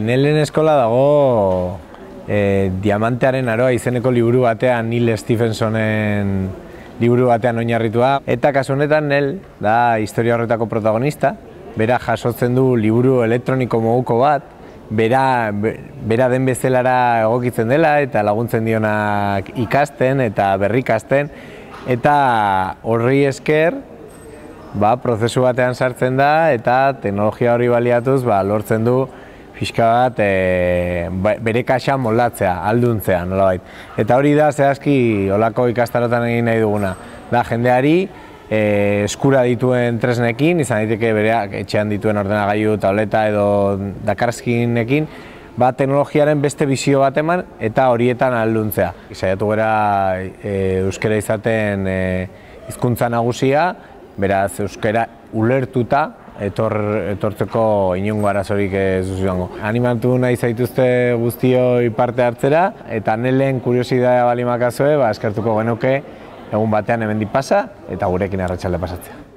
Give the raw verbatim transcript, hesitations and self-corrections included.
Nelen eskola dago e, Diamantearen Aroa izeneko liburu batean, Neil Stephensonen liburu batean oinarritua. Eta kasu honetan Nel da historia horretako protagonista, bera jasotzen du liburu elektroniko moduko bat, bera, bera den bezelara egokitzen dela eta laguntzen dionak ikasten eta berrikasten, eta horri esker ba, prozesu batean sartzen da eta teknologia hori baliatuz ba, lortzen du pixka bat e, bere kaxa moldatzea, alduntzea nolabait. Eta hori da zehazki olako ikastarotan egin nahi duguna. Da jendeari e, eskura dituen tresnekin, izan daiteke bereak etxean dituen ordenagailu, tableta edo dakarskinekin, ba, teknologiaren beste bizio bat eman eta horietan alduntzea. Saiatu gara e, euskara izaten e, hizkuntza nagusia, beraz euskara ulertuta, Etor, etortzeko inongo arazorik ez duzuango. Animatu nahi zaituzte guztioi parte hartzera, eta Nelen kuriosidadea balimakazue, ba, eskertuko genuke egun batean hemendik pasa eta gurekin arratsalde pasatzea.